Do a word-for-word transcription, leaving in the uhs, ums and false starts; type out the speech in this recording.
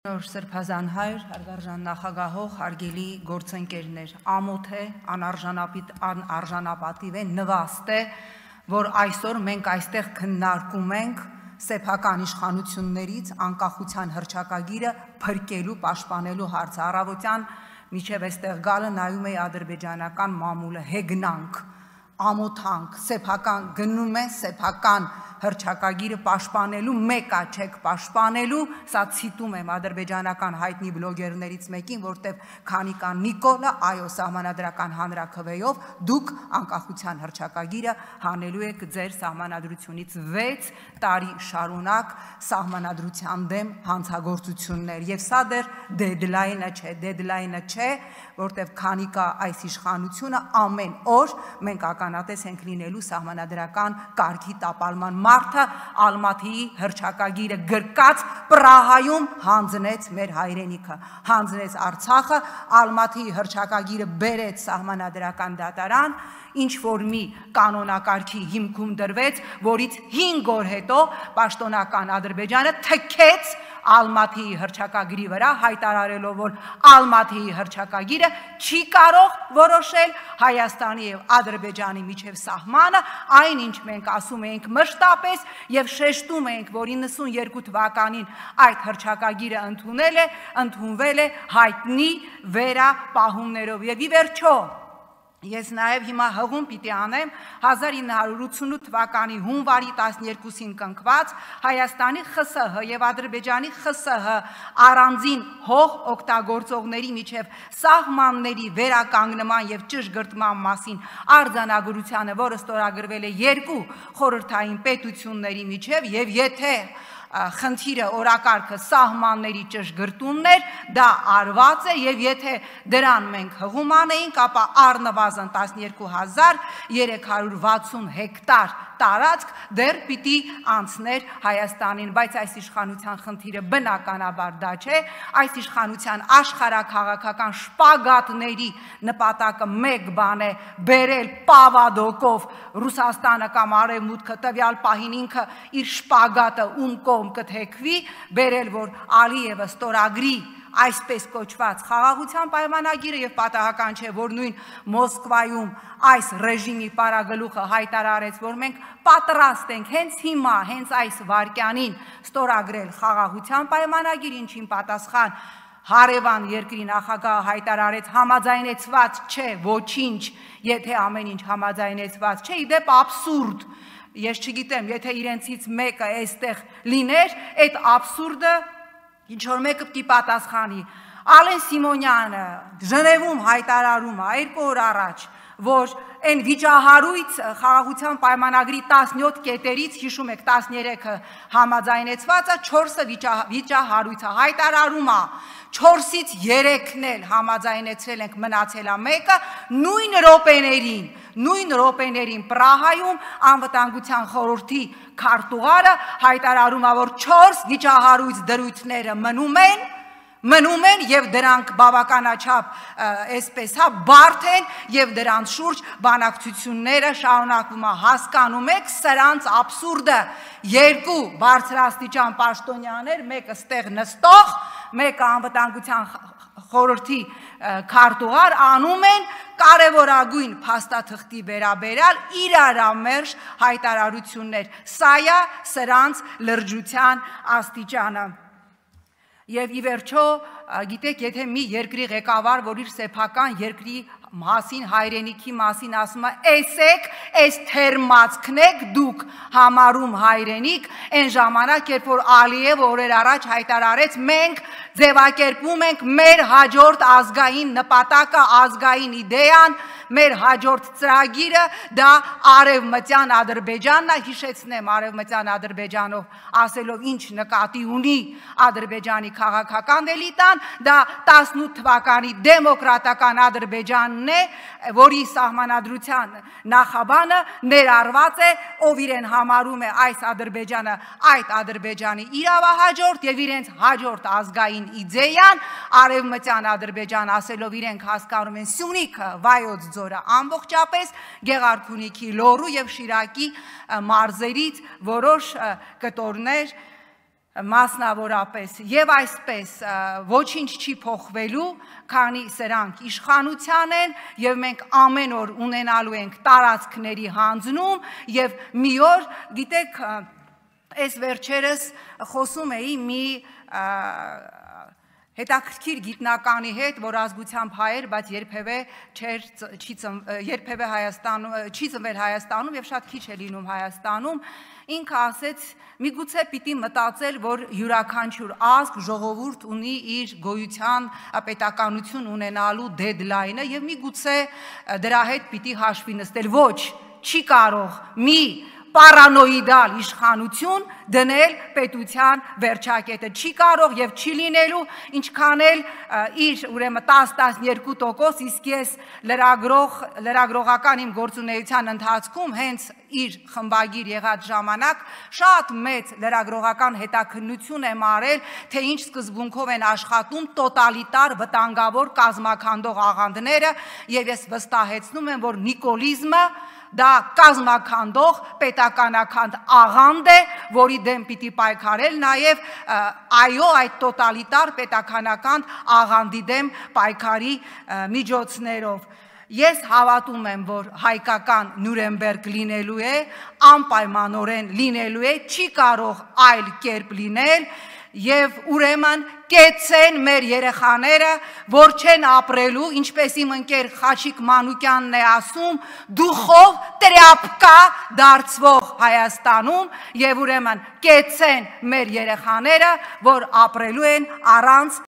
Նոր Սրբազան հայր, հարգարժան նախագահող, հարգելի գործընկերներ, ամոթ է, անարժանապատիվ է, նվաստ է, որ այսօր մենք այստեղ քննարկում ենք սեփական իշխանություններից անկախության հռչակագիրը փրկելու, պաշտպանելու հարցը։ Առավոտյան միջև այստեղ գալը նայում էի ադրբեջանական մամուլը, հեգնանք, ամոթանք, սեփական գնում է, սեփական հռչակագիրը պաշտպանելու, մեկա չեք պաշտպանելու, սա ցիտում եմ ադրբեջանական հայտնի բլոգերներից մեկին, որտեղ քանի կան Նիկոլը, այո, սահմանադրական հանրաքվեով դուք անկախության հռչակագիրը հանելու եք ձեր սահմանադրությունից վեց տարի շարունակ սահմանադրության դեմ հանցագործություններ, եւ սա դեռ դեդլայնը չէ, դեդլայնը չէ, որտեղ քանի կա այս իշխանությունը ամեն օր մենք ականատես ենք լինելու սահմանադրական կարգի տապալման մարդը Ալմաթիի հռչակագիրը գրկած Պրահայում հանձնեց մեր հայրենիքը, հանձնեց Արցախը, Ալմաթիի հռչակագիրը բերեց սահմանադրական դատարան, ինչ որ մի կանոնակարգի հիմքում դրվեց, որից հինգ օր հետո պաշտոնական Ադրբեջանը թքեց Ալմաթիի հռչակագրի վրա, հայտարարելով, որ Ալմաթիի հռչակագիրը չի կարող որոշել Հայաստանի եւ Ադրբեջանի միջև սահմանը, այնինչ մենք ասում ենք մշտապես եւ շեշտում ենք, որ իննսունյերկու թվականին այդ հռչակագիրը ընդունել է, ընդունվել է հայտնի վերապահումներով եւ ի վերջո Ես նաև հիմա հղում պիտի անեմ հազար ինը հարյուր ութսունութ թվականի հունվարի տասներկուսին կնքված Հայաստանի ԽՍՀ եւ Ադրբեջանի ԽՍՀ առանձին հող օգտագործողների միջև սահմանների վերականգնման եւ ճշգրտման մասին արձանագրությանը, որը ստորագրվել է երկու խորհրդային պետությունների միջև եւ եթե խնդիրը օրակարգը սահմանների ճշգրտումն էր, դա արված է եւ եթե դրան մենք հղում անեինք, ապա առնվազն տասներկու հազար երեք հարյուր վաթսուն հեկտար տարածք դեռ պիտի անցներ Հայաստանին, բայց այս իշխանության խնդիրը բնականաբար դա չէ, այս իշխանության աշխարհաքաղաքական շպագատների նպատակը մեկ բան է բերել պավադոկով Ռուսաստանը կամ Արևմուտքը տվյալ պահին ինքը իր շպագատը ում կողմ կթեքվի, բերել որ Ալիևը ստորագրի այսպես կոչված խաղաղության պայմանագիրը եւ պատահական չէ, որ նույն Մոսկվայում այս ռեժիմի պարագլուխը հայտարարեց, որ մենք պատրաստ ենք հենց հիմա, հենց այս վայրկյանին ստորագրել խաղաղության պայմանագիր, ինչին պատասխան հարևան երկրի նախագահը հայտարարեց համաձայնեցված չէ, ոչինչ, եթե ամեն ինչ համաձայնեցված չէ, իդեպ աբսուրդ Ես չգիտեմ, եթե իրենցից մեկը այստեղ լիներ, այդ աբսուրդը ինչ որ մեկը պիտի պատասխանի։ Ալեն Սիմոնյանը Ժնևում հայտարարում է երկու օր առաջ, որ այն վիճահարույց խաղաղության պայմանագրի տասնյոթ կետերից, հիշում եք տասներեքը համաձայնեցվածը, չորսը վիճահարույցը հայտարարում է, չորսից երեքն էլ համաձայնեցրել ենք, մնացել է մեկը, նույն րոպեներին, նույն րոպեներին Պրահայում անվտանգության խորհրդի քարտուղարը հայտարարում է, որ չորս վիճահարույց դրույթները մնում են, մնում են եւ դրանք բավականաչափ այսպես հա բարդ են եւ դրանց շուրջ բանակցությունները շարունակվում է հասկանում եք սրանց աբսուրդը երկու բարձրաստիճան պաշտոնյաներ մեկը ստեղ նստող մեկը անվտանգության խորհրդի քարտուղար անում են կարևորագույն փաստաթղթի վերաբերյալ իրարամերժ հայտարարություններ սա է սրանց լրջության աստիճանը Եվ ի վերջո, գիտեք, եթե մի երկրի ղեկավար, որ իր սեփական երկրի մասին, հայրենիքի մասին ասում է, «Էսեք, էս թերմացքն եք դուք համարում հայրենիք», այն ժամանակ, երբ որ Ալիևը օրեր առաջ հայտարարեց, մենք ձևակերպում ենք մեր հաջորդ ազգային նպատակը, ազգային իդեան, մեր հաջորդ ծրագիրը դա արևմտյան Ադրբեջանն է, հիշեցնեմ արևմտյան Ադրբեջանով ասելով ինչ նկատի ունի Ադրբեջանի քաղաքական էլիտան, դա տասնութ թվականի դեմոկրատական Ադրբեջանն է, որի սահմանադրության նախաբանը ներառված է, ով իրեն համարում է այս Ադրբեջանը, այդ Ադրբեջանի իրավահաջորդ եւ իրենց հաջորդ ազգային իդեան, արևմտյան Ադրբեջան ասելով իրենք հասկանում են Սյունիքը, Վայոց ձորը ամբողջապես Գեղարքունիքի լոռու եւ Շիրակի մարզերից որոշ կտորներ մասնավորապես եւ այսպես ոչինչ չի փոխվելու, քանի սրանք իշխանության են եւ մենք ամեն օր ունենալու ենք տարածքների հանձնում եւ մի օր, գիտեք, այս վերջերս խոսում էի մի հետաքրքիր գիտնականի հետ, որ ազգությամբ հայ էր, բայց երբևէ չէր չի երբևէ Հայաստանում չի ծնվել Հայաստանում եւ շատ քիչ է լինում Հայաստանում, ինքը ասեց, միգուցե պիտի մտածել, որ յուրաքանչյուր ազգ, ժողովուրդ ունի իր գոյության պետականություն ունենալու դեդլայնը եւ միգուցե դրա հետ պիտի հաշվի նստել, ոչ, չի կարող մի պարանոիդալ իշխանություն դնել պետության վերջակետը, չի կարող եւ չի լինելու, ինչքան էլ իր ուրեմն տասը տասնյոթ տոկոս, իսկ ես լրագրող լրագրողական իմ գործունեության ընթացքում հենց իր խմբագիր եղած ժամանակ շատ մեծ լրագրողական հետաքննություն եմ արել, թե ինչ սկզբունքով են աշխատում տոտալիտար վտանգավոր կազմաքանդող աղանդները եւ ես վստահեցնում եմ, որ նիկոլիզմը դա կազմաքանդող պետականաքանդ աղանդ է, որի դեմ պիտի պայքարել նաև այո այդ տոտալիտար պետականական աղանդի դեմ պայքարի միջոցներով։ Ես հավատում եմ, որ հայկական Նյուրնբերգ լինելու է, անպայմանորեն լինելու է, չի կարող այլ կերպ լինել եւ ուրեմն կեցեն մեր երեխաները, որ չեն ապրելու, ինչպես իմ ընկեր Խաչիկ Մանուկյանն է ասում, դուխով տրյապկա դարձվող Հայաստանում եւ ուրեմն կեցեն մեր երեխաները, որ ապրելու են առանց